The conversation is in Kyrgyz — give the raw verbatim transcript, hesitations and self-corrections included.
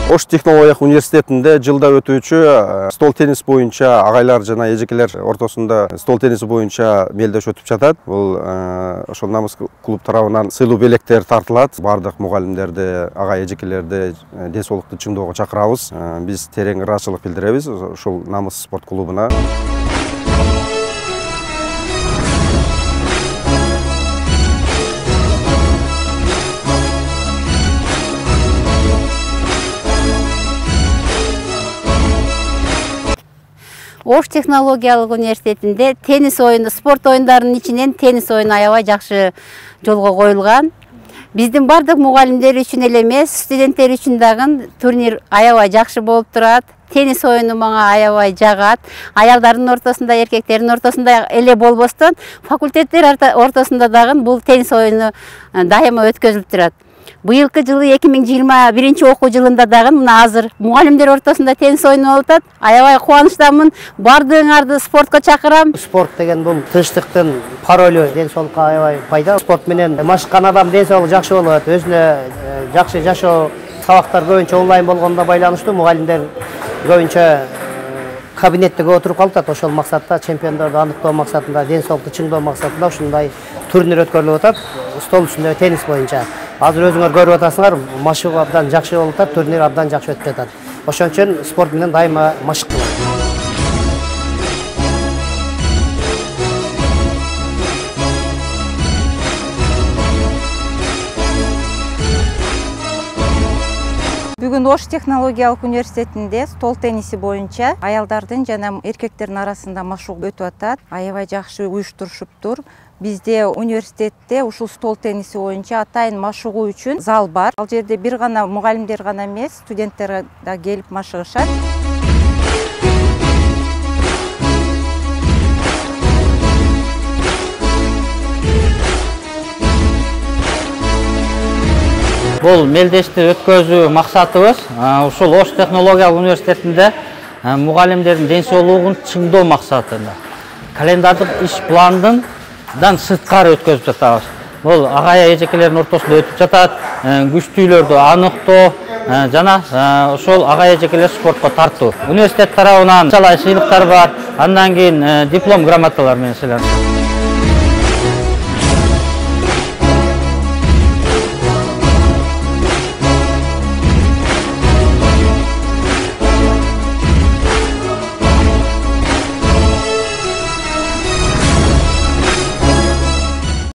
Ош технологиялык университетинде жылда өтүүчү стол теннис боюнча агайлар жана эжекелер ортосунда стол тенниси боюнча мелдеш өтүп жатат. Бул ошол намыс клуб тарабынан сыйлуу белектер тартылат. Бардык мугалимдерди, агай эжекелерди ден соолукту чыңдоого чакырабыз. Биз терең ыраазычылык билдиребиз ушул намыс спорт клубуна. Ош технологиялык университетинде теннис оюну, спорт оюндарынын ичинен теннис оюну аябай жакшы жолго коюлган. Биздин бардык мугалимдер үчүн эле эмес, студенттер үчүн дагы турнир аябай жакшы болуп турат. Теннис оюну мага аябай жагат. Аялдардын ортосунда, эркектердин ортосунда эле болбостон, факультеттер ортосунда дагы бул теннис оюну дайыма өткөзүлүп турат. Быйылкы жылы эки миң жыйырма биринчи окуу жылында дагы мына азыр мугалимдер ортосунда теннис оюну болуп атат. Аябай кубанычтамын. Бардыгыңарды спортко чакырам. Спорт деген бул тынчтыктын паролу, ден соолукка аябай пайда. Спорт менен машыккан адам ден соолугу жакшы болот. Өзүнө жакшы жашоо, сабактар көбүнчө онлайн болгонуна байланыштуу мугалимдер көбүнчө кабинеттеге отуруп калышат. Ошол максатта чемпиондорду аныктоо максатында, ден соолукту чыңдоо максатында ушундай турнир өткөрүлүп атат. Стол үстүндө теннис боюнча. Азыр өзүңөр көрүп атасыңар, машыгуу абдан жакшы болуп атат, турнир абдан жакшы өтүп жатат. Ошон үчүн спорт менен дайыма машыкталат. Бүгүн Ош технологиялык университетинде стол тенниси боюнча аялдардын жана эркектердин арасында машыгуу өтүп атат. Аябай жакшы уюштурушуптур. Бизде университетте ушул стол тенниси боюнча атайын машыгуу үчүн зал бар. Ал жерде бир гана мугалимдер гана эмес, студенттер да келип машыгышат. Бул мелдешти өткөзүү максатыбыз ушул Ош технологиялык университетинде мугалимдердин ден соолугун чыңдоо максатында. Календардык иш пландын дан сырткары өткөзүп жатабыз. Бул агай эжекелердин ортосунда өтүп жатат, күчтүүлөрдү аныктоо жана ошол агай эжекелер спортко тартуу. Университет тарабынан сыйлыктар бар, андан кийин диплом, грамоталар менен сыйланат.